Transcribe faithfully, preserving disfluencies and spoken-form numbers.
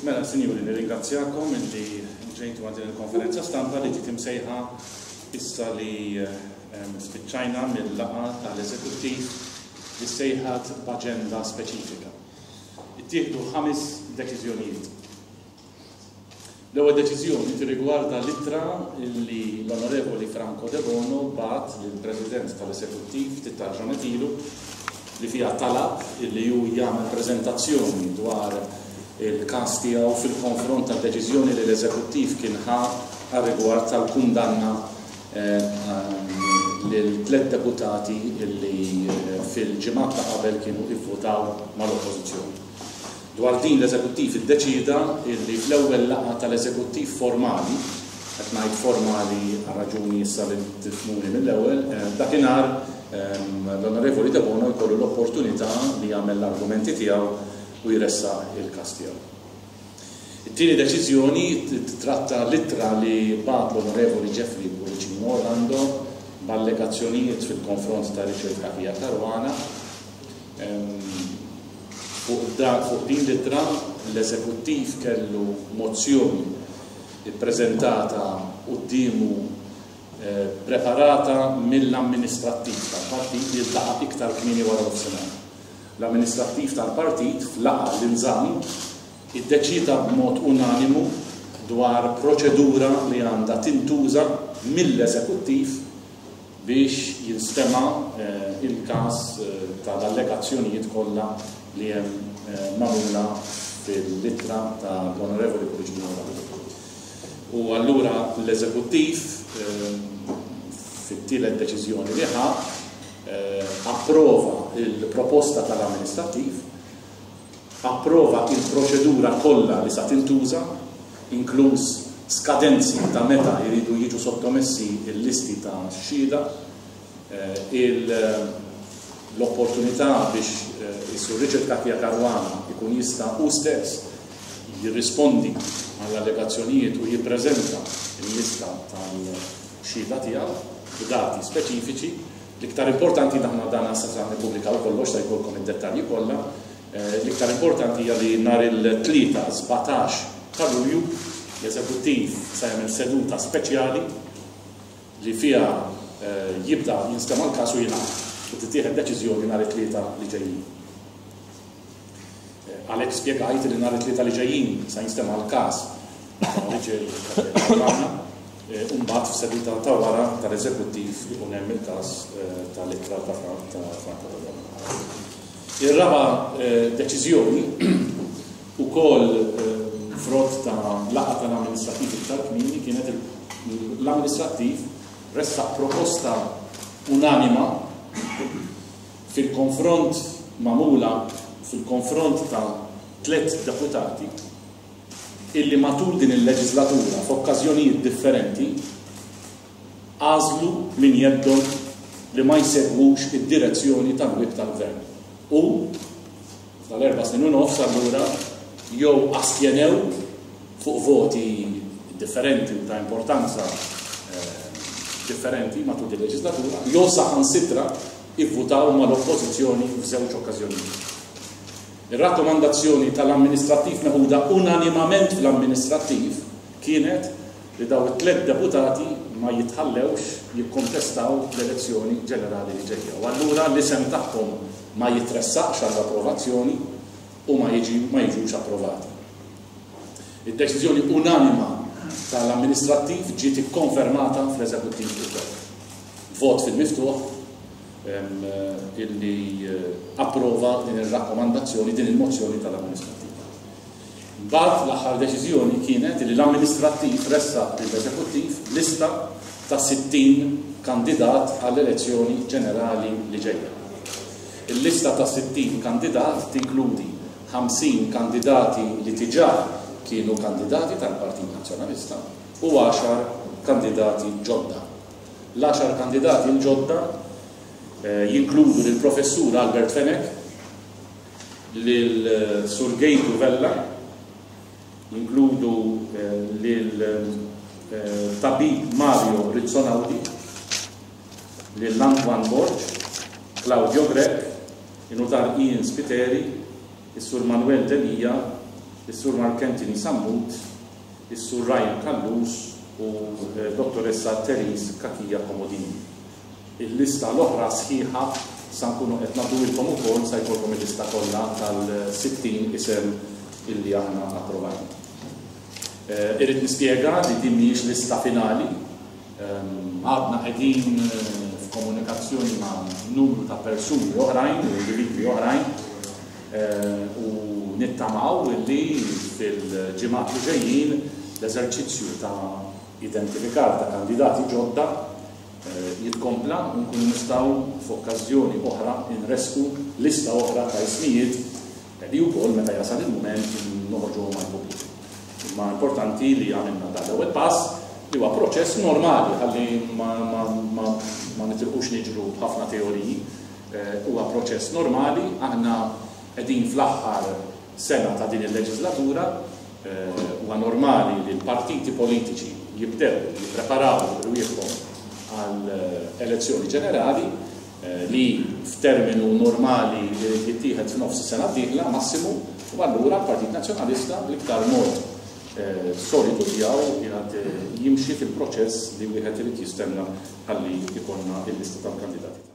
Mela, sinjuri, nirringrazzjakom illi ġejtu għal din il-konferenza stampa li ġiet imsejħa issa li spiċċajna mill-laqgħa tal-eżekuttiv li sejħat b'aġenda speċifika. Ittieħdu ħames deċiżjonijiet. L-ewwel deċiżjoni tirrigwarda l-ittra li l-Onorevoli Franco Debono bagħat lill-President tal-Eżekuttiv ftit tal-ġranet ilu li fiha talab illi hu jagħmel preżentazzjoni dwar il-każ tiegħu fil-konfront tad-deċiżjoni li l-Eżekuttiv kien ħa għar-rigward tal-kundanna lil tliet deputati li fil-ġimgħat ta' qabel kienu ivvutaw mal-Oppożizzjoni. Dwar din l-Eżekuttiv iddeċida li fl-ewwel laqgħa tal-Eżekuttiv formali, qed ngħid formali għal raġuni issa li tifhmuni mill-ewwel, dakinhar l-Onorevoli Debono jkollu l-opportunità li jagħmel l-argumenti tiegħu u jressaq il-każ tiegħu. It-tieni deċiżjoni titratta l-ittra li bagħat l-Onorevoli Jeffrey Pullicino Orlando b'allegazzjonijiet fil-konfront ta' Richard Cachia Caruana. Fuq din l-ittra l-Eżekuttiv kellu mozzjoni ippreżentata quddiemu preparata mill-amministrattiv tal-partit li ltaqa' iktar kmieni wara nofsinhar. L-amministrattiv tal-partit f'laqgħa li nżamm iddeċida b'mod unanimu dwar proċedura li għandha tintuża mill-eżekuttiv biex jinstema' il-każ tal-allegazzjonijiet kollha li hemm magħmula fil-ittra tal-Onorevoli Pullicino Orlando. U allura l-eżekuttiv fit-tielet deċiżjoni li ħa approva il-proposta tal-amministrattiv, approva il-proċedura kollha li sa tintuża, inkluż skadenzi ta' meta jridu jiġu sottomessi l-listi ta' xhieda, l-opportunità biex is-Sur Richard Cachia Caruana ikun jista' hu stess jirrispondi għall-allegazzjonijiet u jippreżenta l-lista tal-xhieda tiegħu b'dati speċifiċi. L-iktar importanti, aħna dan sa sa nippubblikaw kollox, sa jkollkom id-dettalji kollha, l-iktar importanti hija li nhar il-tlieta sbatax ta' Lulju l-Eżekuttiv sa jagħmel seduta speċjali li fiha jibda jinstema' l-każ u jingħad u tittieħed deċiżjoni nhar it-tlieta li ġejjin. Għalhekk spjegajt li nhar it-tlieta li ġejjin sa jinstema' l-każ ta' Richard Caruana, u mbagħad f'seduta ta' wara tal-Eżekuttiv ikun hemm il-każ tal-ittra ta' Franco Debono. Ir-raba' deċiżjoni ukoll frott ta' laqgħa tal-amministrattiv iktar kmieni kienet l-amministrattiv ressaq proposta unanima fil-konfront magħmula fil-konfront ta' tliet deputati illi matul din il-leġislatura f'okkażjonijiet differenti għażlu minn jeddhom li ma jsegwux id-direzzjoni tal-whip tal-gvern. U tal-erba' snin u nofs allura jew astjenew fuq voti differenti u ta' importanza differenti matul din il-leġislatura, jew saħansitra ivvutaw mal-oppożizzjoni f'żewġ okkażjonijiet. Ir-rakkomandazzjoni tal-amministrattiv meħuda unanimament fl-amministrattiv kienet li daw it-tliet deputati ma jitħallewx jikkontestaw l-elezzjoni ġenerali li ġejja. U allura l-isem tagħhom ma jitressaqx għall-approvazzjoni u ma jiġi, ma jiġux approvati. Id-deċiżjoni unanima tal-amministrattiv ġiet ikkonfermata fl-eżekuttiv ukoll. Vot fil-miftuħ illi approva din ir-rakkomandazzjoni, din il-mozzjoni tal-amministrattiv. Mbagħad l-aħħar deċiżjoni kienet li l-amministrattiv ressaq lill-eżekuttiv lista ta' sittin kandidat għall-elezzjoni ġenerali li ġejja. Il-lista ta' sittin kandidat tinkludi ħamsin kandidati li diġà kienu kandidati tal-Partit Nazzjonalista u għaxar kandidati ġodda. L-għaxar kandidati l-ġodda jinkludu lill-Professur Albert Fenech, lil Sur Gejtu Vella, jinkludu lil Tabib Mario Rizzonaudi, lil Antoine Borg, Claudio Grech, in-Nutar Ian Spiteri, is-Sur Manuel Delia, is-Sur Mark Anthony Sammut, is-Sur Ryan Callus u Dottoressa Therese Cachia Comodini. Il-lista l-oħra sħiħa sa nkunu qed nagħtuhilkom ukoll, sa jkollkom il-lista kollha tal-sittin isem illi aħna approvajna. Irrid nispjega li din mhijiex lista finali. Għadna qegħdin f'komunikazzjoni ma' numru ta' persuni oħrajn u individwi oħrajn, u nittamaw illi fil-ġimgħat li ġejjin l-eżerċizzju ta' identifikar ta' kandidati ġodda jitkompla u nkunu nistgħu f'okkażjoni oħra nresqu lista oħra ta' ismijiet li wkoll meta jasal il-mument noħorġuhom għall-pubbliku. Imma importanti li għamilna dan l-ewwel pass, li huwa proċess normali, ħalli ma, ma, ma, ma nitilqux niġru b'ħafna teoriji, huwa proċess normali. Aħna qegħdin fl-aħħar sena ta' din il-leġislatura, huwa normali li l-partiti politiċi jibdew jippreparaw rwieħhom għal elezzjoni ġenerali li f'terminu normali jittieħed f'nofs is-sena d-dieħla massimu, u allura l-Partit Nazzjonalista bl-iktar mod solidu tiegħu qiegħed jimxi fil-proċess li wieħed irid jistenna ħalli jkollna il-lista tal-kandidati.